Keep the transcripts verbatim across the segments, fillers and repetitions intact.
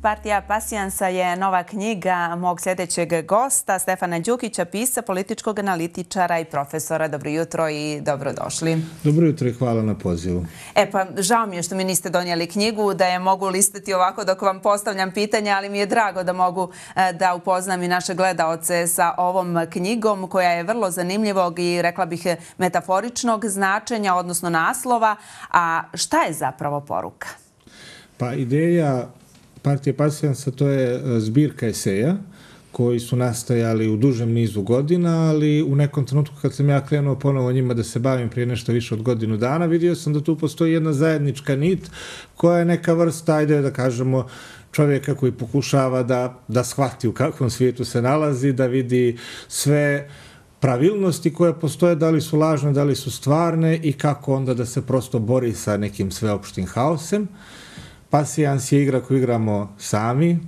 Partija pasijansa je nova knjiga mog sljedećeg gosta, Stefana Đukića, pisca, političkog analitičara i profesora. Dobro jutro i dobrodošli. Dobro jutro i hvala na pozivu. E pa, žao mi je što mi niste donijeli knjigu, da je mogu listati ovako dok vam postavljam pitanja, ali mi je drago da mogu da upoznam i naše gledaoce sa ovom knjigom koja je vrlo zanimljivog i, rekla bih, metaforičnog značenja, odnosno naslova. A šta je zapravo poruka? Pa ideja Partije pasijansa to je zbirka eseja koji su nastajali u dužem nizu godina, ali u nekom trenutku kad sam ja krenuo ponovo njima da se bavim prije nešto više od godinu dana, vidio sam da tu postoji jedna zajednička nit koja je neka vrsta, ajde da kažemo, čovjeka koji pokušava da, da shvati u kakvom svijetu se nalazi, da vidi sve pravilnosti koje postoje, da li su lažne, da li su stvarne i kako onda da se prosto bori sa nekim sveopštim haosem. Pasijans je igra koju igramo sami,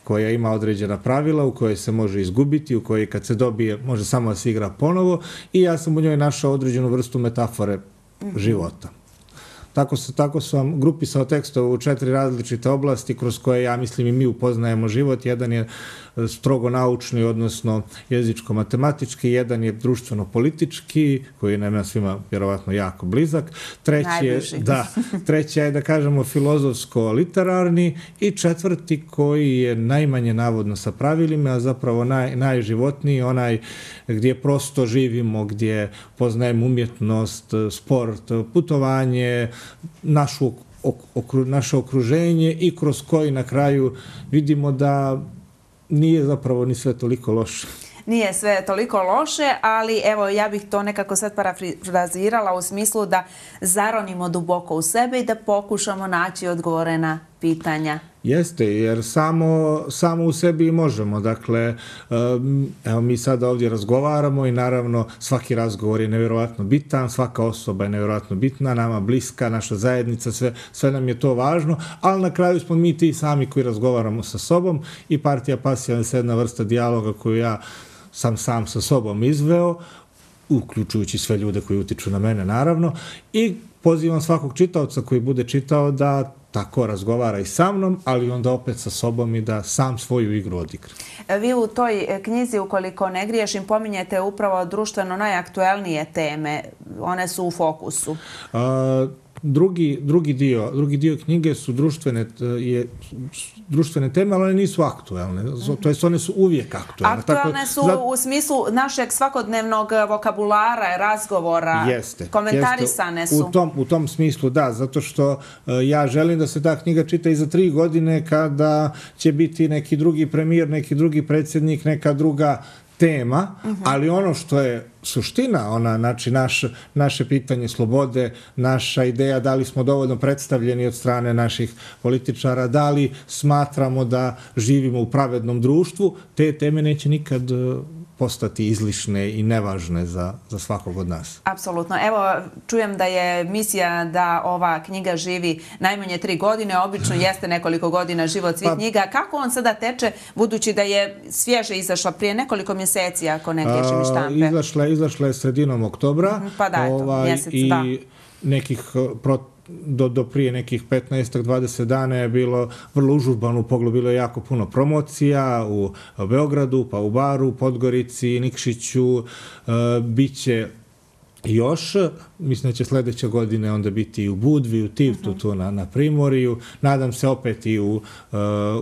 koja ima određena pravila, u kojoj se može izgubiti, u kojoj kad se dobije može samo da se igra ponovo i ja sam u njoj našao određenu vrstu metafore života. Tako, se, tako su vam grupisao tekstove u četiri različite oblasti kroz koje, ja mislim, i mi upoznajemo život. Jedan je strogo naučni, odnosno jezičko-matematički, jedan je društveno-politički, koji je nama svima vjerovatno jako blizak. Treći je, da, treći je, da kažemo, filozofsko-literarni i četvrti koji je najmanje navodno sa pravilima, a zapravo naj, najživotniji, onaj gdje prosto živimo, gdje poznajemo umjetnost, sport, putovanje, našu, okru, naše okruženje i kroz koji na kraju vidimo da nije zapravo ni sve toliko loše. Nije sve toliko loše, ali evo ja bih to nekako sad parafrazirala u smislu da zaronimo duboko u sebe i da pokušamo naći odgovore na pitanja. Jeste, jer samo, samo u sebi i možemo. Dakle, evo mi sada ovdje razgovaramo i naravno svaki razgovor je nevjerojatno bitan, svaka osoba je nevjerojatno bitna, nama bliska, naša zajednica, sve, sve nam je to važno, ali na kraju smo mi ti sami koji razgovaramo sa sobom i Partija pasijansa je jedna vrsta dijaloga koju ja sam sam sa sobom izveo, uključujući sve ljude koji utiču na mene, naravno, i pozivam svakog čitaoca koji bude čitao da tako razgovara i sa mnom, ali onda opet sa sobom i da sam svoju igru odigra. Vi u toj knjizi, ukoliko ne griješim, pominjete upravo društveno najaktuelnije teme. One su u fokusu. A, drugi, drugi, dio, drugi dio knjige su društvene, je, društvene teme, ali one nisu aktuelne. To jest, one su uvijek aktuelne. Aktuelne tako, su za... u smislu našeg svakodnevnog vokabulara, razgovora, jeste, komentarisane jeste. su. U tom, u tom smislu, da, zato što uh, ja želim da se ta knjiga čita i za tri godine kada će biti neki drugi premijer, neki drugi predsjednik, neka druga tema, uh-huh. ali ono što je suština, ona, znači naš, naše pitanje slobode, naša ideja da li smo dovoljno predstavljeni od strane naših političara, da li smatramo da živimo u pravednom društvu, te teme neće nikad postati izlišne i nevažne za, za svakog od nas. Apsolutno. Evo, čujem da je misija da ova knjiga živi najmanje tri godine, obično jeste nekoliko godina život svih pa, knjiga. Kako on sada teče, budući da je svježe izašla prije nekoliko mjeseci, ako ne griješim iz štampe? Izašla, izašla je sredinom oktobra. Pa da, eto, ovaj, mjesec, i da. nekih pro, do, do prije nekih petnaest do dvadeset dana je bilo vrlo užurbano, u pogledu bilo je jako puno promocija u Beogradu, pa u Baru, Podgorici, Nikšiću, uh, bit će još, mislim da će sljedeće godine onda biti i u Budvi, u Tivtu, tu na, na Primorju, nadam se opet i u, uh,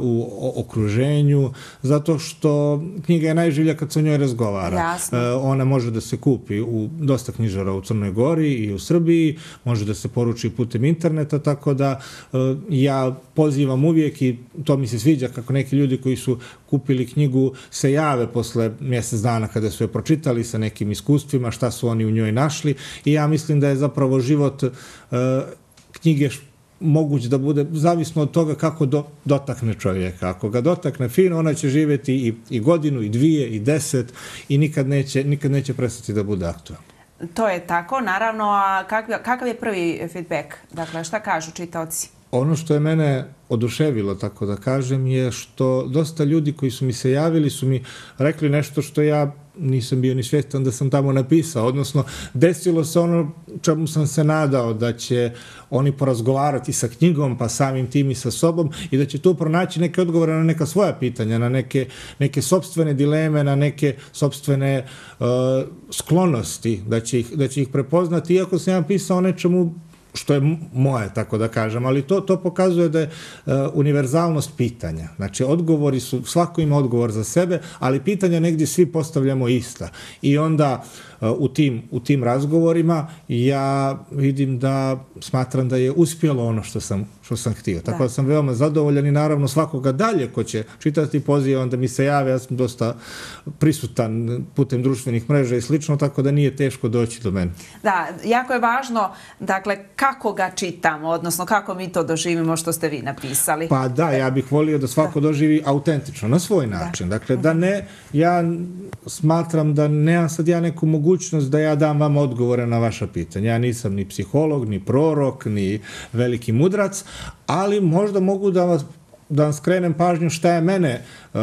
u okruženju, zato što knjiga je najživlja kad se o njoj razgovara. Uh, ona može da se kupi u dosta knjižara u Crnoj Gori i u Srbiji, može da se poruči putem interneta, tako da uh, ja pozivam uvijek i to mi se sviđa kako neki ljudi koji su kupili knjigu se jave posle mjesec dana kada su je pročitali sa nekim iskustvima, šta su oni u njoj našli i ja mislim da je zapravo život uh, knjige moguć da bude zavisno od toga kako do, dotakne čovjeka. Ako ga dotakne fino, ona će živjeti i, i godinu, i dvije, i deset i nikad neće, nikad neće prestati da bude aktualna. To je tako, naravno. A kakav, kakav je prvi feedback? Dakle, šta kažu čitaoci? Ono što je mene oduševilo, tako da kažem, je što dosta ljudi koji su mi se javili su mi rekli nešto što ja nisam bio ni svjestan da sam tamo napisao, odnosno desilo se ono čemu sam se nadao, da će oni porazgovarati sa knjigom, pa samim tim i sa sobom i da će tu pronaći neke odgovore na neka svoja pitanja, na neke, neke sopstvene dileme, na neke sopstvene uh, sklonosti, da će, ih, da će ih prepoznati, iako sam ja pisao o nečemu što je moje, tako da kažem, ali to, to pokazuje da je uh, univerzalnost pitanja. Znači, odgovori su, svako ima odgovor za sebe, ali pitanja negdje svi postavljamo ista. I onda uh, u, tim, u tim razgovorima ja vidim da smatram da je uspjelo ono što sam, što sam htio. Tako da. da sam veoma zadovoljan i naravno svakoga dalje ko će čitati poziv, onda mi se jave, ja sam dosta prisutan putem društvenih mreža i slično, tako da nije teško doći do mene. Da, jako je važno, dakle, kako ga čitamo, odnosno kako mi to doživimo što ste vi napisali. Pa da, ja bih volio da svako da. doživi autentično, na svoj način. Da. Dakle, da ne, ja smatram da nemam sad ja neku mogućnost da ja dam vam odgovore na vaša pitanja. Ja nisam ni psiholog, ni prorok, ni veliki mudrac, ali možda mogu da, vas, da vam skrenem pažnju šta je mene uh,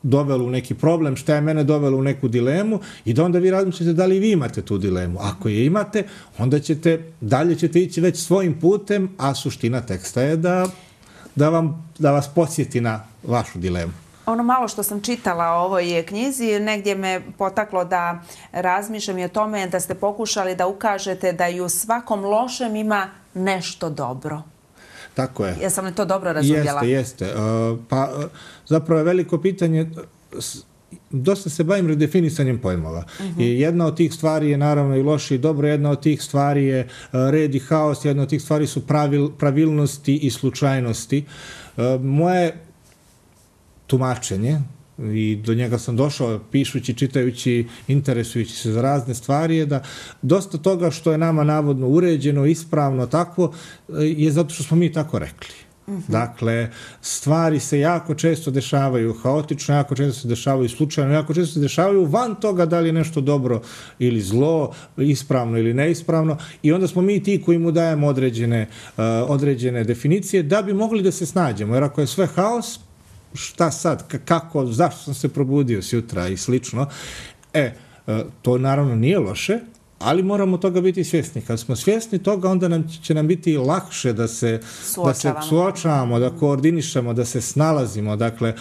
dovelo u neki problem, šta je mene dovelo u neku dilemu i da onda vi razmišljate da li vi imate tu dilemu. Ako je imate, onda ćete, dalje ćete ići već svojim putem, a suština teksta je da, da, vam, da vas podsjeti na vašu dilemu. Ono malo što sam čitala o ovoj knjizi, negdje me potaklo da razmišljam i o tome da ste pokušali da ukažete da i u svakom lošem ima nešto dobro. Tako je. Jesam li to dobro razumjela? Jeste, jeste. Pa zapravo je veliko pitanje, dosta se bavim redefinisanjem pojmova. Uh-huh. I jedna od tih stvari je naravno i loše i dobro, jedna od tih stvari je red i haos, jedna od tih stvari su pravil, pravilnosti i slučajnosti. Moje tumačenje, i do njega sam došao pišući, čitajući, interesujući se za razne stvari, je da dosta toga što je nama navodno uređeno, ispravno, takvo, je zato što smo mi tako rekli. Uh-huh. Dakle, stvari se jako često dešavaju haotično, jako često se dešavaju slučajno, jako često se dešavaju van toga da li je nešto dobro ili zlo, ispravno ili neispravno, i onda smo mi ti koji mu dajemo određene, uh, određene definicije da bi mogli da se snađemo, jer ako je sve haos, šta sad, kako, zašto sam se probudio sjutra i slično. E, to naravno nije loše, ali moramo toga biti svjesni. Kad smo svjesni toga, onda nam će nam biti lakše da se suočavamo, da se suočavamo, da koordinišemo, da se snalazimo. Dakle,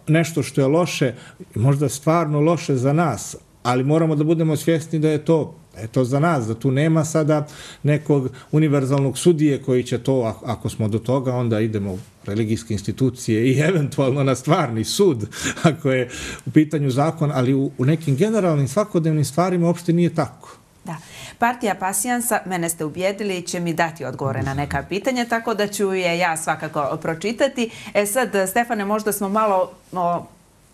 nešto što je loše, možda stvarno loše za nas, ali moramo da budemo svjesni da je to je to za nas, da tu nema sada nekog univerzalnog sudije koji će to, ako smo do toga, onda idemo u religijske institucije i eventualno na stvarni sud, ako je u pitanju zakon, ali u, u nekim generalnim svakodnevnim stvarima uopšte nije tako. Da. Partija Pasijansa, mene ste ubijedili, će mi dati odgovore na neka pitanja, tako da ću je ja svakako pročitati. E sad, Stefane, možda smo malo o,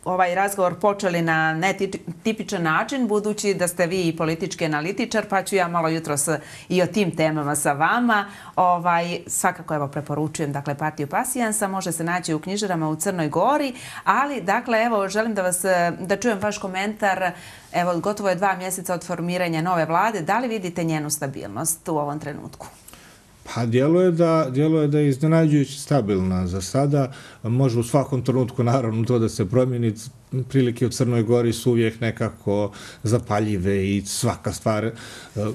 ovaj razgovor počeli na netipičan način, budući da ste vi politički analitičar, pa ću ja malo jutros i o tim temama sa vama. Ovaj, svakako evo preporučujem, dakle, Partiju Pasijansa, može se naći u knjižarama u Crnoj Gori, ali dakle, evo, želim da vas, da čujem vaš komentar. Evo, gotovo je dva mjeseca od formiranja nove vlade. Da li vidite njenu stabilnost u ovom trenutku? Pa djeluje da, djeluje da je iznenađujući stabilna za sada. Može u svakom trenutku naravno to da se promijeni. Prilike u Crnoj Gori su uvijek nekako zapaljive i svaka stvar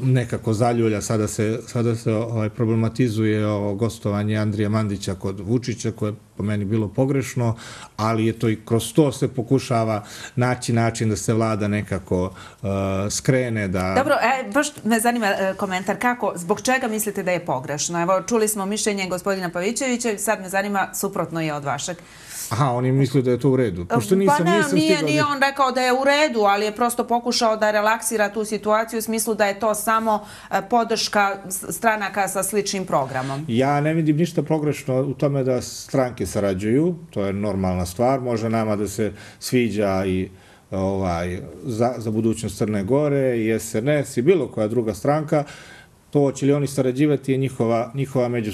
nekako zaljulja. Sada se, sada se ovaj, problematizuje o gostovanje Andrija Mandića kod Vučića, koje je po meni bilo pogrešno, ali je to i kroz to se pokušava naći način da se vlada nekako uh, skrene. Da... Dobro, e, baš me zanima e, komentar. Kako, zbog čega mislite da je pogrešno? Evo, čuli smo mišljenje gospodina Pavićevića, sad me zanima, suprotno je od vašeg. Aha, oni misle da je to u redu. Pošto nisam, pa ne, nisam nije, stigao... nije on rekao da je u redu, ali je prosto pokušao da relaksira tu situaciju u smislu da je to samo podrška stranaka sa sličnim programom. Ja ne vidim ništa pogrešno u tome da stranke sarađuju, to je normalna stvar, može nama da se sviđa i ovaj, za, za budućnost Crne Gore i S N S i bilo koja druga stranka, to će li oni sarađivati je njihova, njihova među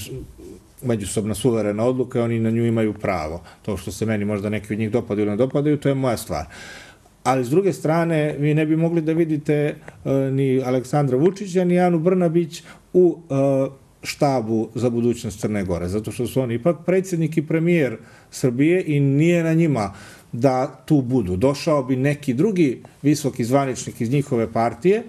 međusobna suverena odluka i oni na nju imaju pravo. To što se meni možda neki od njih dopadaju ili ne dopadaju, to je moja stvar. Ali s druge strane, vi ne bi mogli da vidite uh, ni Aleksandra Vučića, ni Anu Brnabić u uh, štabu za budućnost Crne Gore, zato što su oni ipak predsjednik i premijer Srbije i nije na njima da tu budu. Došao bi neki drugi visoki zvaničnik iz njihove partije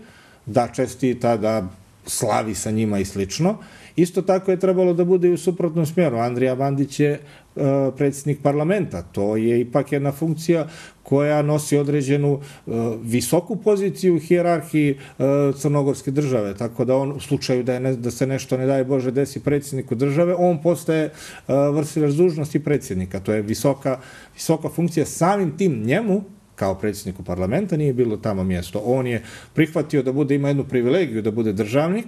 da čestita, da slavi sa njima i slično. Isto tako je trebalo da bude i u suprotnom smjeru. Andrija Mandić je uh, predsjednik parlamenta. To je ipak jedna funkcija koja nosi određenu uh, visoku poziciju u hijerarhiji uh, crnogorske države. Tako da on, u slučaju da, je ne, da se nešto, ne daj Bože, desi predsjedniku države, on postaje uh, vršilac dužnosti predsjednika. To je visoka, visoka funkcija. Samim tim njemu, kao predsjedniku parlamenta, nije bilo tamo mjesto. On je prihvatio da bude, ima jednu privilegiju da bude državnik,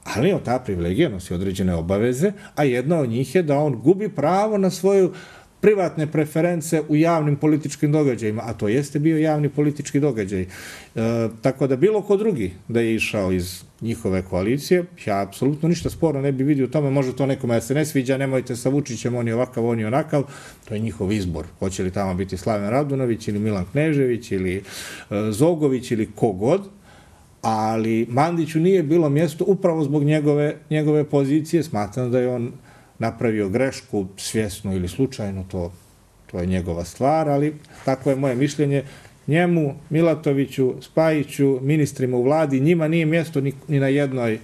ali on ta privilegija nosi određene obaveze, a jedna od njih je da on gubi pravo na svoju privatne preference u javnim političkim događajima, a to jeste bio javni politički događaj. E, tako da bilo ko drugi da je išao iz njihove koalicije, ja apsolutno ništa sporno ne bi vidio u tome, može to nekome da se ne sviđa, nemojte sa Vučićem, on je ovakav, on je onakav, to je njihov izbor. Hoće li tamo biti Slaven Radunović ili Milan Knežević ili e, Zogović ili kogod, ali Mandiću nije bilo mjesto upravo zbog njegove, njegove pozicije. Smatram da je on napravio grešku, svjesno ili slučajno, to, to je njegova stvar, ali tako je moje mišljenje. Njemu, Milatoviću, Spajiću, ministrima u vladi, njima nije mjesto ni, ni na jednoj,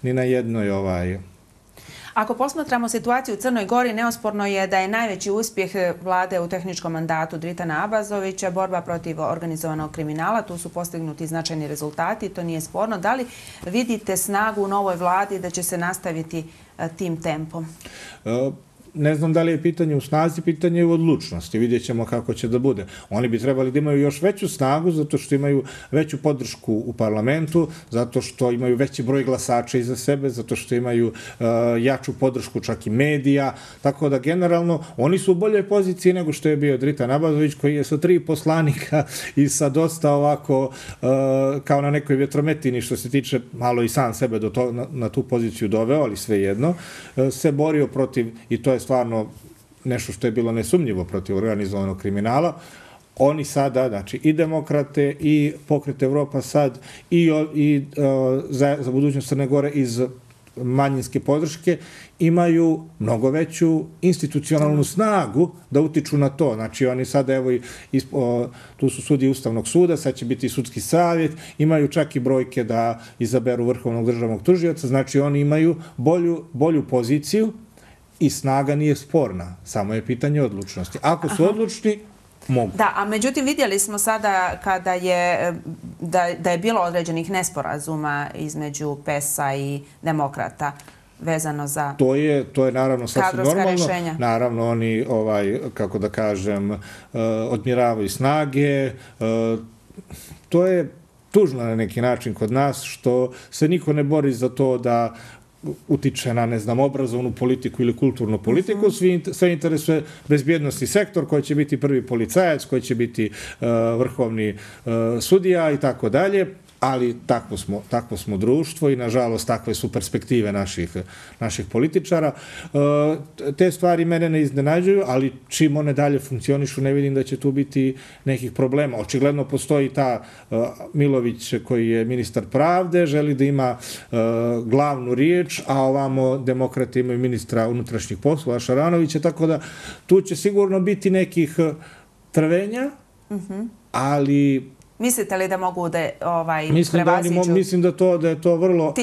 ni na jednoj ovaj... Ako posmatramo situaciju u Crnoj Gori, neosporno je da je najveći uspjeh vlade u tehničkom mandatu Dritana Abazovića borba protiv organizovanog kriminala. Tu su postignuti značajni rezultati, to nije sporno. Da li vidite snagu u novoj vladi da će se nastaviti tim tempom? Uh... Ne znam da li je pitanje u snazi, pitanje je u odlučnosti. Vidjet ćemo kako će da bude. Oni bi trebali da imaju još veću snagu zato što imaju veću podršku u parlamentu, zato što imaju veći broj glasača iza sebe, zato što imaju uh, jaču podršku čak i medija. Tako da generalno oni su u boljoj poziciji nego što je bio Dritan Abazović, koji je sa tri poslanika i sa dosta ovako uh, kao na nekoj vjetrometini što se tiče malo i sam sebe do to, na, na tu poziciju doveo, ali svejedno uh, se borio protiv, i to je stvarno nešto što je bilo nesumnjivo protiv organizovanog kriminala. Oni sada, znači i demokrate i pokret Evropa sad i, i uh, za, za budućnost Crne Gore iz manjinske podrške imaju mnogo veću institucionalnu snagu da utiču na to. Znači oni sada, evo, i, o, tu su sudije Ustavnog suda, sad će biti sudski savjet, imaju čak i brojke da izaberu vrhovnog državnog tužioca, znači oni imaju bolju, bolju poziciju i snaga nije sporna, samo je pitanje odlučnosti. Ako su Aha. odlučni, mogu. Da, a međutim vidjeli smo sada kada je, da, da je bilo određenih nesporazuma između P E S-a i demokrata vezano za to je to je naravno sasvim normalno. Rješenja. Naravno oni ovaj kako da kažem odmjeravaju snage. To je tužno na neki način kod nas što se niko ne bori za to da utiče na, ne znam, obrazovnu politiku ili kulturnu politiku, uh-huh. svi, sve interesuje bezbjednosti sektor koji će biti prvi policajac, koji će biti uh, vrhovni uh, sudija i tako dalje, ali takvo smo, takvo smo društvo i nažalost takve su perspektive naših, naših političara. Uh, te stvari mene ne iznenađuju, ali čim one dalje funkcionišu ne vidim da će tu biti nekih problema. Očigledno postoji ta uh, Milović koji je ministar pravde, želi da ima uh, glavnu riječ, a ovamo demokrati imaju ministra unutrašnjih poslova Šaranovića, tako da tu će sigurno biti nekih trvenja, uh-huh. ali mislite li da mogu da ovaj mislim prevaziću? Da oni, mislim da to da je to vrlo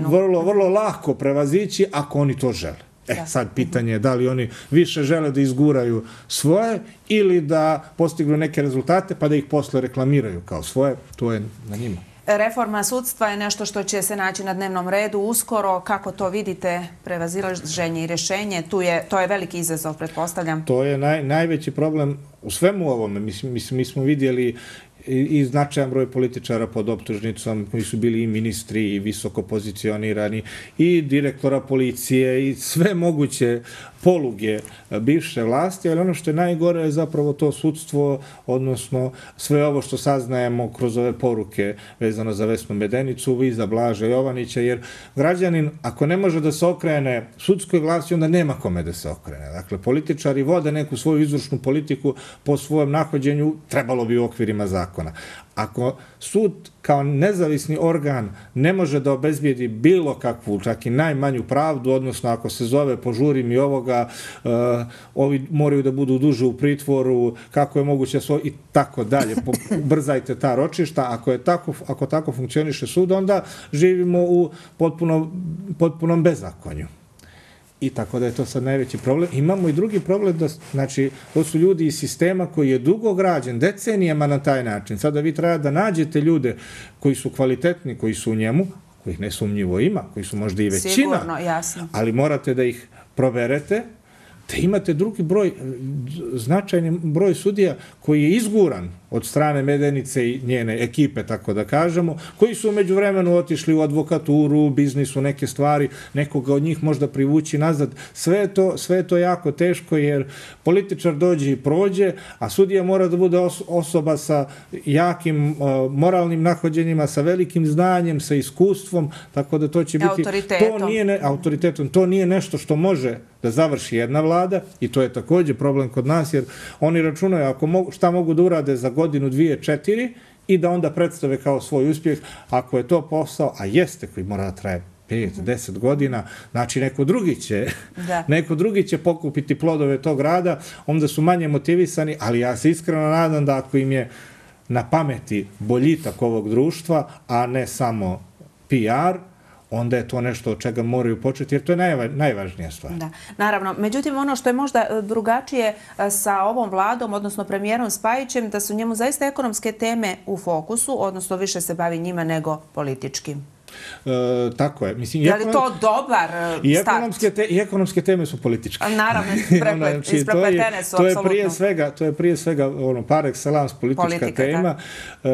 vrlo vrlo lako prevazići ako oni to žele. E, da. Sad pitanje je da li oni više žele da izguraju svoje ili da postignu neke rezultate pa da ih posle reklamiraju kao svoje, to je na njima. Reforma sudstva je nešto što će se naći na dnevnom redu uskoro. Kako to vidite, prevazilaženje i rješenje? Tu je, to je veliki izazov, pretpostavljam. To je naj, najveći problem u svemu ovome. Mislim, mislim, mi smo vidjeli i, i značajan broj političara pod optužnicom koji su bili i ministri i visoko pozicionirani i direktora policije i sve moguće poluge bivše vlasti, ali ono što je najgore je zapravo to sudstvo, odnosno sve ovo što saznajemo kroz ove poruke vezano za Vesnu Medenicu i za Blaža Jovanića, jer građanin, ako ne može da se okrene sudskoj vlasti, onda nema kome da se okrene. Dakle, političari vode neku svoju izvršnu politiku po svojem nahođenju, trebalo bi u okvirima zakona. Ako sud kao nezavisni organ ne može da obezbijedi bilo kakvu, čak i najmanju pravdu, odnosno ako se zove požuri mi ovoga, uh, ovi moraju da budu duže u pritvoru, kako je moguće svo, i tako dalje, brzajte ta ročišta, ako je tako, ako tako funkcioniše sud, onda živimo u potpuno, potpunom bezakonju. I tako da je to sad najveći problem. Imamo i drugi problem, da, znači, to su ljudi iz sistema koji je dugo građen, decenijama na taj način. Sada vi treba da nađete ljude koji su kvalitetni, koji su u njemu, kojih nesumnjivo ima, koji su možda i većina, sigurno, jasno, ali morate da ih proberete, da imate drugi broj, značajni broj sudija koji je izguran od strane Medenice i njene ekipe, tako da kažemo, koji su umeđu vremenu otišli u advokaturu, u biznisu, neke stvari, nekoga od njih možda privući nazad. Sve je to, sve je to jako teško, jer političar dođe i prođe, a sudija mora da bude osoba sa jakim uh, moralnim nahođenjima, sa velikim znanjem, sa iskustvom, tako da to će biti... Autoritetom. To nije ne, autoritetom. To nije nešto što može da završi jedna vlada, i to je također problem kod nas, jer oni računaju ako mogu, šta mogu da urade za godinu, dvije, četiri, i da onda predstave kao svoj uspjeh. Ako je to posao, a jeste, koji mora da traje pet, deset godina, znači neko drugi će, da. neko drugi će pokupiti plodove tog rada, onda su manje motivisani, ali ja se iskreno nadam da ako im je na pameti boljitak ovog društva, a ne samo P R, onda je to nešto od čega moraju početi, jer to je najva, najvažnija stvar. Da, naravno. Međutim, ono što je možda drugačije sa ovom vladom, odnosno premijerom Spajićem, da su njemu zaista ekonomske teme u fokusu, odnosno više se bavi njima nego političkim. E, tako je. Mislim, je li to dobar i start? Ekonomske te, I ekonomske teme su političke. Naravno, znači, isprepletene su, to je apsolutno. Prije svega, to je prije svega ono, par excellence politička Politika, tema. E,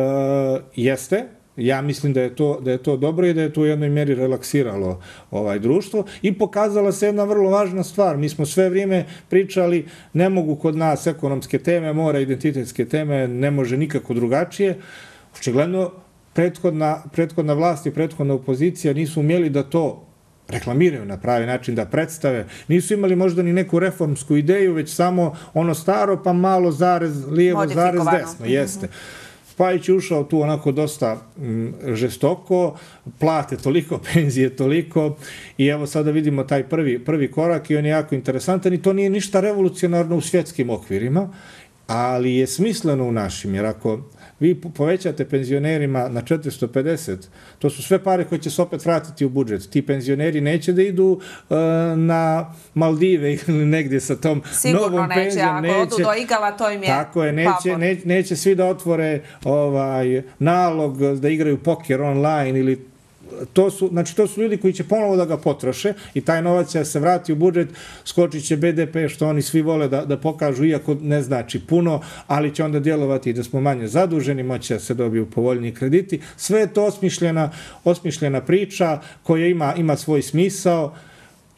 jeste. Ja mislim da je to da je to dobro i da je to u jednoj mjeri relaksiralo ovaj društvo i pokazala se jedna vrlo važna stvar. Mi smo sve vrijeme pričali ne mogu kod nas ekonomske teme, mora identitetske teme, ne može nikako drugačije. Očigledno prethodna prethodna vlast i prethodna opozicija nisu umjeli da to reklamiraju na pravi način, da predstave. Nisu imali možda ni neku reformsku ideju, već samo ono staro pa malo zarez lijevo, zarez desno. Jeste. Mm-hmm. Spajić je ušao tu onako dosta m, žestoko, plate toliko, penzije toliko, i evo sada vidimo taj prvi, prvi korak i on je jako interesantan i to nije ništa revolucionarno u svjetskim okvirima, ali je smisleno u našim, jer ako vi povećate penzionerima na četiristo pedeset, to su sve pare koje će se opet vratiti u budžet. Ti penzioneri neće da idu uh, na Maldive ili negdje sa tom sigurno novom neće, penzijom. Sigurno neće, ako odu do igala, to im je tako je, neće, neće, neće svi da otvore ovaj, nalog da igraju poker online ili to su, znači to su ljudi koji će ponovo da ga potroše i taj novac će se vrati u budžet, skočit će B D P što oni svi vole da, da pokažu, iako ne znači puno, ali će onda djelovati da smo manje zaduženi, moće da se dobiju povoljni krediti. Sve je to osmišljena, osmišljena priča koja ima, ima svoj smisao.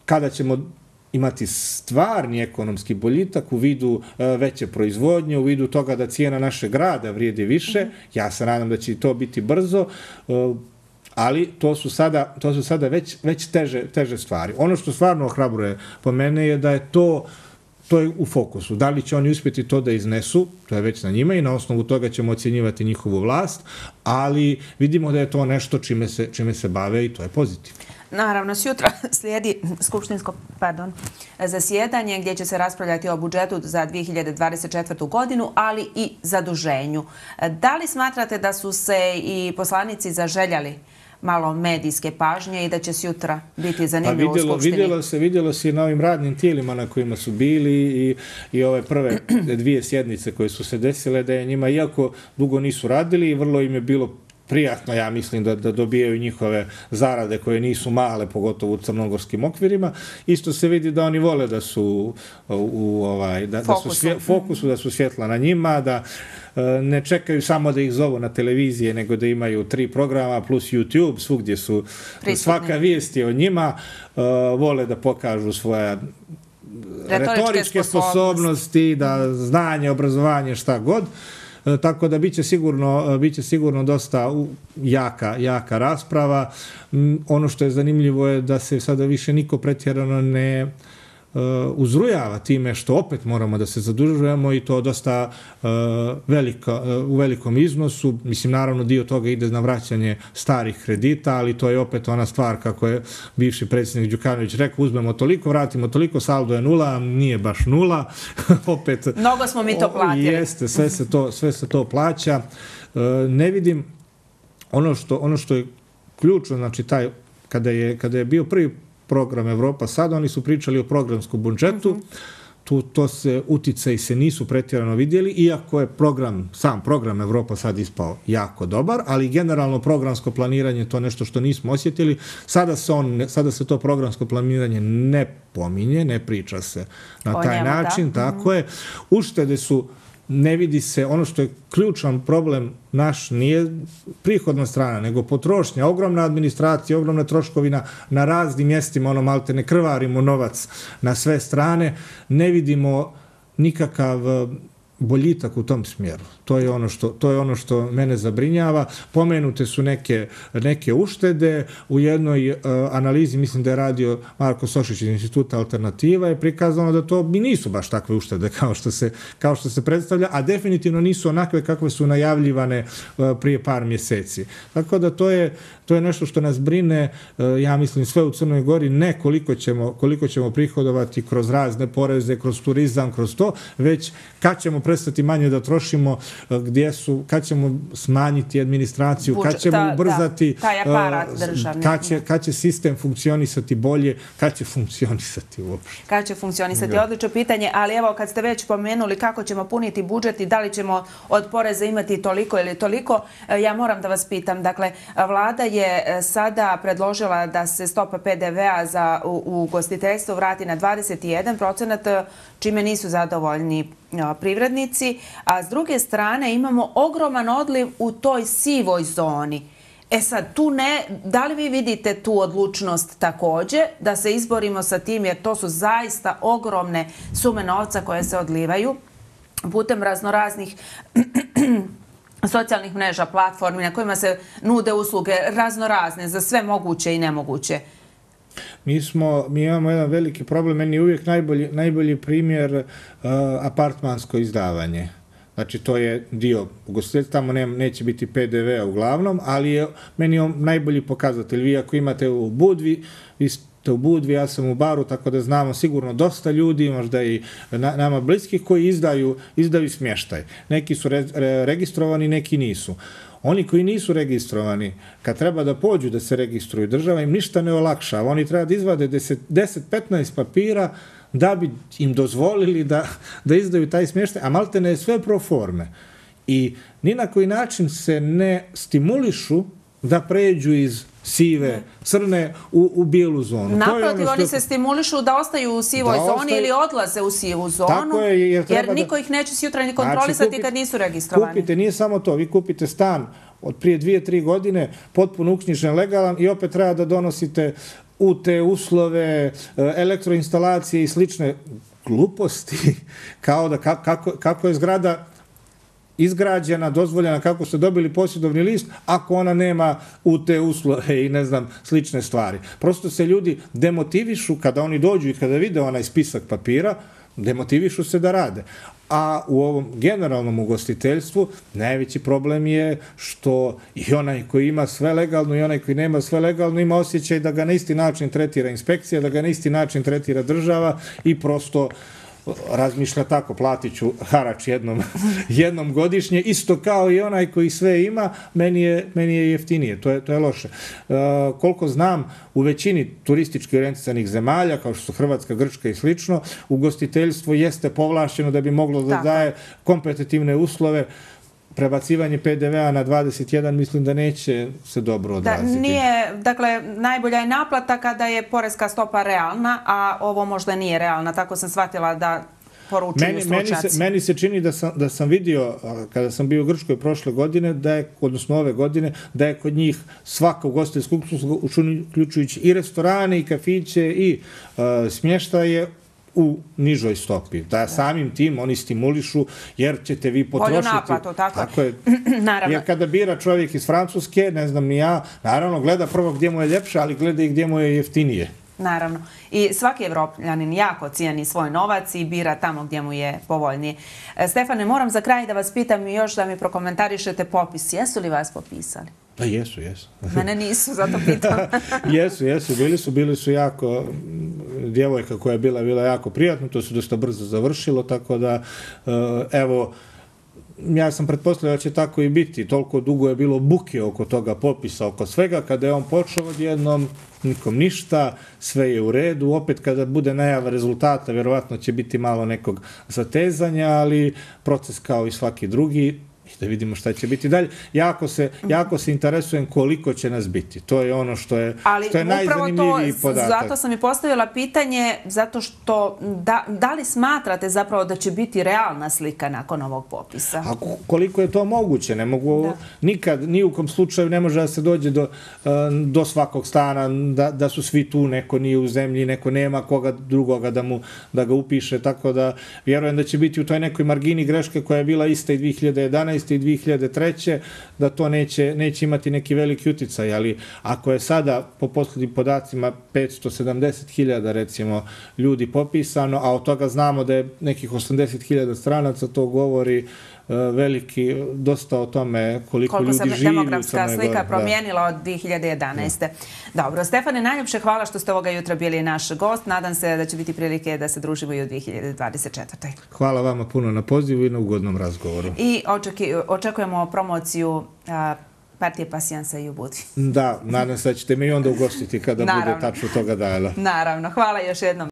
Kada ćemo imati stvarni ekonomski boljitak u vidu e, veće proizvodnje, u vidu toga da cijena našeg rada vrijedi više, ja se nadam da će to biti brzo, e, ali to su sada, to su sada već, već teže, teže stvari. Ono što stvarno ohrabruje po mene je da je to, to je u fokusu. Da li će oni uspjeti to da iznesu, to je već na njima i na osnovu toga ćemo ocjenjivati njihovu vlast, ali vidimo da je to nešto čime se, čime se bave i to je pozitivno. Naravno, sutra slijedi skupštinsko pardon, zasjedanje gdje će se raspravljati o budžetu za dvije hiljade dvadeset četvrtu. godinu, ali i zaduženju. Da li smatrate da su se i poslanici zaželjali malo medijske pažnje i da će sutra biti zanimljivo pa vidjelo, u Skupštini? Vidjelo se, vidjelo se i na ovim radnim tijelima na kojima su bili i, i ove prve dvije sjednice koje su se desile, da je njima, iako dugo nisu radili, vrlo im je bilo prijatno, ja mislim, da, da dobijaju njihove zarade koje nisu male, pogotovo u crnogorskim okvirima. Isto se vidi da oni vole da su u, u ovaj, da, da su svje, fokusu, da su svjetla na njima, da e, ne čekaju samo da ih zovu na televizije, nego da imaju tri programa plus YouTube, svugdje su prisutni. Svaka vijest je o njima, e, vole da pokažu svoja retoričke sposobnosti, da znanje, obrazovanje, šta god. Tako da biće sigurno, biće sigurno dosta jaka, jaka rasprava. Ono što je zanimljivo je da se sada više niko pretjerano ne uzrujava time što opet moramo da se zadužujemo i to dosta velika, u velikom iznosu. Mislim, naravno, dio toga ide na vraćanje starih kredita, ali to je opet ona stvar, kako je bivši predsjednik Đukanović rekao, uzmemo toliko, vratimo toliko, saldo je nula, nije baš nula. Opet, mnogo smo mi to platili. Jeste, sve se to, sve se to plaća. Ne vidim ono što, ono što je ključno, znači taj, kada je, kada je bio prvi program Evropa sad, oni su pričali o programskom budžetu, uh-huh. tu to se uticaji se nisu pretjerano vidjeli, iako je program, sam program Evropa sad ispao jako dobar, ali generalno programsko planiranje to nešto što nismo osjetili. Sada se, on, sada se to programsko planiranje ne pominje, ne priča se na o taj njemu, način, da. tako je. Uštede su, ne vidi se, ono što je ključan problem naš nije prihodna strana, nego potrošnja, ogromna administracija, ogromna troškovina na raznim mjestima, ono malte ne krvarimo novac na sve strane, ne vidimo nikakav boljitak u tom smjeru. To je ono što, to je ono što mene zabrinjava. Pomenute su neke, neke uštede. U jednoj uh, analizi, mislim da je radio Marko Sošić iz Instituta Alternativa, je prikazano da to mi nisu baš takve uštede kao što se, kao što se predstavlja, a definitivno nisu onakve kakve su najavljivane uh, prije par mjeseci. Tako da to je, to je nešto što nas brine, uh, ja mislim, sve u Crnoj Gori, ne koliko ćemo, koliko ćemo prihodovati kroz razne poreze, kroz turizam, kroz to, već kad ćemo prestati manje da trošimo, gdje su, kad ćemo smanjiti administraciju, Budžet, kad ćemo ta, ubrzati, da, taj aparat državni. Kad će, kad će sistem funkcionisati bolje, kad će funkcionisati uopšte. Kad će funkcionisati, Da. Odlično pitanje, ali evo kad ste već pomenuli kako ćemo puniti budžet i da li ćemo od poreza imati toliko ili toliko, ja moram da vas pitam, dakle, vlada je sada predložila da se stopa P D V-a za u, u ugostiteljstvo vrati na dvadeset jedan procenat, čime nisu zadovoljni privrednici, a s druge strane imamo ogroman odliv u toj sivoj zoni. E sad, tu ne, da li vi vidite tu odlučnost također da se izborimo sa tim, jer to su zaista ogromne sume novca koje se odlivaju putem raznoraznih socijalnih mreža, platformi na kojima se nude usluge raznorazne za sve moguće i nemoguće? Mi, smo, mi imamo jedan veliki problem, meni je uvijek najbolji, najbolji primjer uh, apartmansko izdavanje. Znači, to je dio ugostiteljstva, tamo ne, neće biti P D V-a uglavnom, ali je meni je najbolji pokazatelj. Vi ako imate u Budvi, vi ste u Budvi, ja sam u Baru, tako da znamo sigurno dosta ljudi, možda i na, nama bliskih, koji izdaju, izdaju smještaj. Neki su re, re, registrovani, neki nisu. Oni koji nisu registrovani, kad treba da pođu da se registruju, država im ništa ne olakšava. Oni treba da izvade deset do petnaest papira da bi im dozvolili da, da izdaju taj smještaj, a malte ne sve pro forme. I ni na koji način se ne stimulišu da pređu iz sive, crne u, u bijelu zonu. Naprotiv, ono oni se stimulišu da ostaju u sivoj da zoni ostaju, ili odlaze u sivu zonu, tako je, jer, jer niko da, ih neće sutra ni kontrolisati znači, kupite, kad nisu registrovani. Kupite, nije samo to, vi kupite stan od prije dvije, tri godine, potpuno uknjižen, legalan i opet treba da donosite u te uslove, elektroinstalacije i slične gluposti, kao da kako, kako je zgrada izgrađena, dozvoljena, kako ste dobili posjedovni list, ako ona nema u te uslove i ne znam, slične stvari. Prosto se ljudi demotivišu kada oni dođu i kada vide onaj spisak papira, demotivišu se da rade. A u ovom generalnom ugostiteljstvu najveći problem je što i onaj koji ima sve legalno i onaj koji nema sve legalno ima osjećaj da ga na isti način tretira inspekcija, da ga na isti način tretira država i prosto razmišlja tako, platit ću harač jednom, jednom godišnje, isto kao i onaj koji sve ima, meni je, meni je jeftinije, to je, to je loše. Uh, koliko znam, u većini turistički orijentisanih zemalja, kao što su Hrvatska, Grčka i slično, ugostiteljstvo jeste povlašćeno da bi moglo da daje kompetitivne uslove. Prebacivanje P D V-a na dvadeset jedan mislim da neće se dobro odraziti. Da, nije, dakle, najbolja je naplata kada je poreska stopa realna, a ovo možda nije realna. Tako sam shvatila da poručuju meni, stručnjaci. Meni se, meni se čini da sam, da sam vidio, kada sam bio u Grčkoj prošle godine, da je, odnosno ove godine, da je kod njih svaka ugostiteljska usluga, uključujući i restorane, i kafiće, i uh, smještaje, u nižoj stopi. Da samim tim oni stimulišu jer ćete vi potrošiti... Bolju naplatu, tako, tako je. Naravno. Jer kada bira čovjek iz Francuske, ne znam ni ja, naravno gleda prvo gdje mu je ljepše, ali gleda i gdje mu je jeftinije. Naravno. I svaki Evropljanin jako cijeni svoj novac i bira tamo gdje mu je povoljniji. Stefane, moram za kraj da vas pitam i još da mi prokomentarišete popis. Jesu li vas popisali? Da, jesu, jesu. Mene nisu, zato pitam. Jesu, jesu, bili su, bili su jako, djevojka koja je bila, bila jako prijatna, to se dosta brzo završilo, tako da, evo, ja sam pretpostavljao da će tako i biti. Toliko dugo je bilo buke oko toga popisa, oko svega. Kada je on počeo odjednom, nikom ništa, sve je u redu. Opet kada bude najava rezultata, vjerovatno će biti malo nekog zatezanja, ali proces kao i svaki drugi. Da vidimo šta će biti dalje. Jako se, jako se interesujem koliko će nas biti. To je ono što je, što je najzanimljiviji podatak. Zato sam i postavila pitanje, zato što da, da li smatrate zapravo da će biti realna slika nakon ovog popisa? A koliko je to moguće? Ne mogu, da. Nikad, ni u kom slučaju ne može da se dođe do, do svakog stana, da, da su svi tu, neko nije u zemlji, neko nema koga drugoga da, mu, da ga upiše, tako da vjerujem da će biti u toj nekoj margini greške koja je bila ista i dvije hiljade jedanaeste i dvije hiljade treće da to neće, neće imati neki veliki uticaj, ali ako je sada po posljednjim podacima petsto sedamdeset hiljada recimo ljudi popisano, a od toga znamo da je nekih osamdeset hiljada stranaca, to govori veliki, dosta o tome koliko, koliko ljudi živi. Koliko se demografska slika promijenila od dvije hiljade jedanaeste. Da. Dobro, Stefane, najljepše hvala što ste ovoga jutra bili naš gost. Nadam se da će biti prilike da se družimo i u dvije hiljade dvadeset četvrtoj. Hvala vama puno na pozivu i na ugodnom razgovoru. I očeki, očekujemo promociju a, partije Pasijansa i u Budvi. Da, nadam se da ćete me i onda ugostiti kada bude tačno toga dana. Naravno, hvala još jednom.